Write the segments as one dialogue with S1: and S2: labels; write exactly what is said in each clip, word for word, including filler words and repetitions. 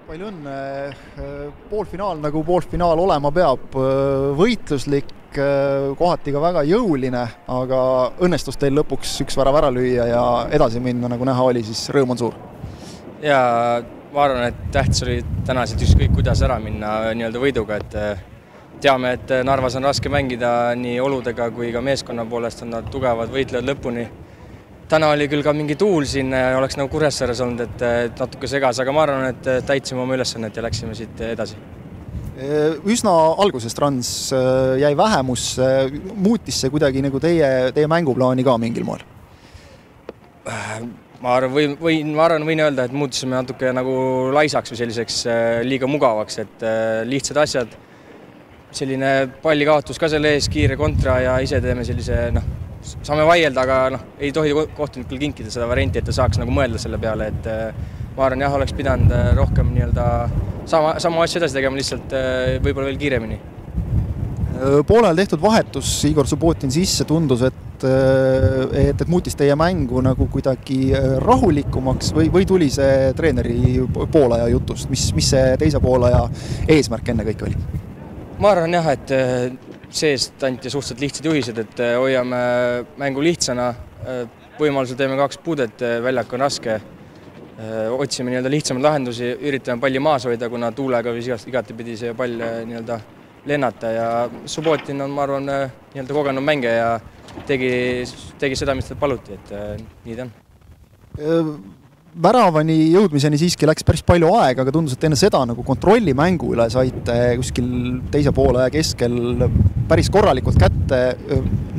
S1: Palju õnne, poolfinaal nagu poolfinaal olema peab, võitluslik, kohati ka väga jõuline, aga õnnestus teil lõpuks üks värav ära lüüa ja edasi minna, nagu näha oli, siis rõõm on suur.
S2: Ja ma arvan, et tähtis oli tänaselt ükskõik kuidas ära minna nii-öelda võiduga, et teame, et Narvas on raske mängida nii oludega kui ka meeskonna poolest on nad tugevad võitlevad lõpuni. Täna oli küll ka mingi tuul siin, oleks nagu Kuressaares olnud, et natuke segas, aga ma arvan, et täitsime oma ülesannet ja läksime siit edasi.
S1: Üsna algusest Rans jäi vähemusse, muutis see kuidagi nagu teie, teie mänguplaani ka mingil moel?
S2: Ma arvan, või, või, ma arvan, võin öelda, et muutusime natuke nagu laisaks või selliseks liiga mugavaks, et lihtsad asjad, selline pallikaotus ka selle ees, kiire kontra ja ise teeme sellise, noh, saame vaielda, aga noh, ei tohi kohtunikul kinkida seda varianti, et ta saaks nagu mõelda selle peale, et ma arvan, jah, oleks pidanud rohkem nii-öelda sama, sama asja edasi tegema, lihtsalt võib-olla veel kiiremini.
S1: Poolel tehtud vahetus Igor Subbotin sisse tundus, et, et, et muutis teie mängu nagu kuidagi rahulikumaks või, või tuli see treeneri poolaja jutust, mis, mis see teise poolaja eesmärk enne kõik oli?
S2: Ma arvan jah, et seest anti suhteliselt lihtsad juhised, et hoiame mängu lihtsana, võimalusel teeme kaks puudet, väljak on raske, otsime nii-öelda lihtsamaid lahendusi, üritame palli maas hoida, kuna tuulega või igati pidi see pall nii-öelda lennata ja Subbotin on, ma arvan, nii-öelda kogenud mängija ja tegi, tegi seda, mis ta paluti, et nii ta on.
S1: Väravani jõudmiseni siiski läks päris palju aega, aga tundus, et enne seda nagu kontrolli mängu üle saite kuskil teise poole keskel päris korralikult kätte.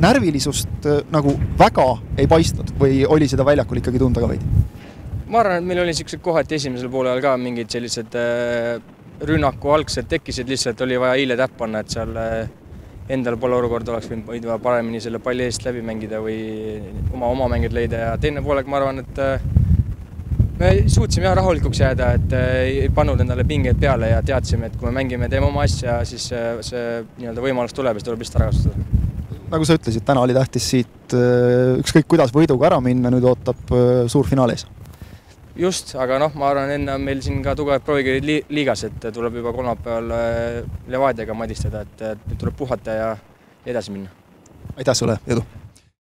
S1: Närvilisust nagu väga ei paistnud või oli seda väljakul ikkagi tunda ka veidi?
S2: Ma arvan, et meil oli sellised kohati esimesel poolel ka mingid sellised rünnaku algsed tekkisid, lihtsalt oli vaja hiile täpp panna, et seal endal pole olukord oleks võinud paremini selle palli eest läbi mängida või oma, oma mängid leida ja teine poolega ma arvan, et me suutsime jah rahulikuks jääda, et ei pannud endale pingeid peale ja teadsime, et kui me mängime, teeme oma asja, siis see nii-öelda võimalus tuleb ja seda tuleb lihtsalt ära kasutada.
S1: Nagu sa ütlesid, täna oli tähtis siit ükskõik kuidas võiduga ära minna, nüüd ootab suur finaal ees.
S2: Just, aga noh, ma arvan, enne on meil siin ka tugevad proovikirjad liigas, et tuleb juba kolmapäeval Levadiaga madistada, et nüüd tuleb puhata ja edasi minna.
S1: Aitäh sulle, jõudu!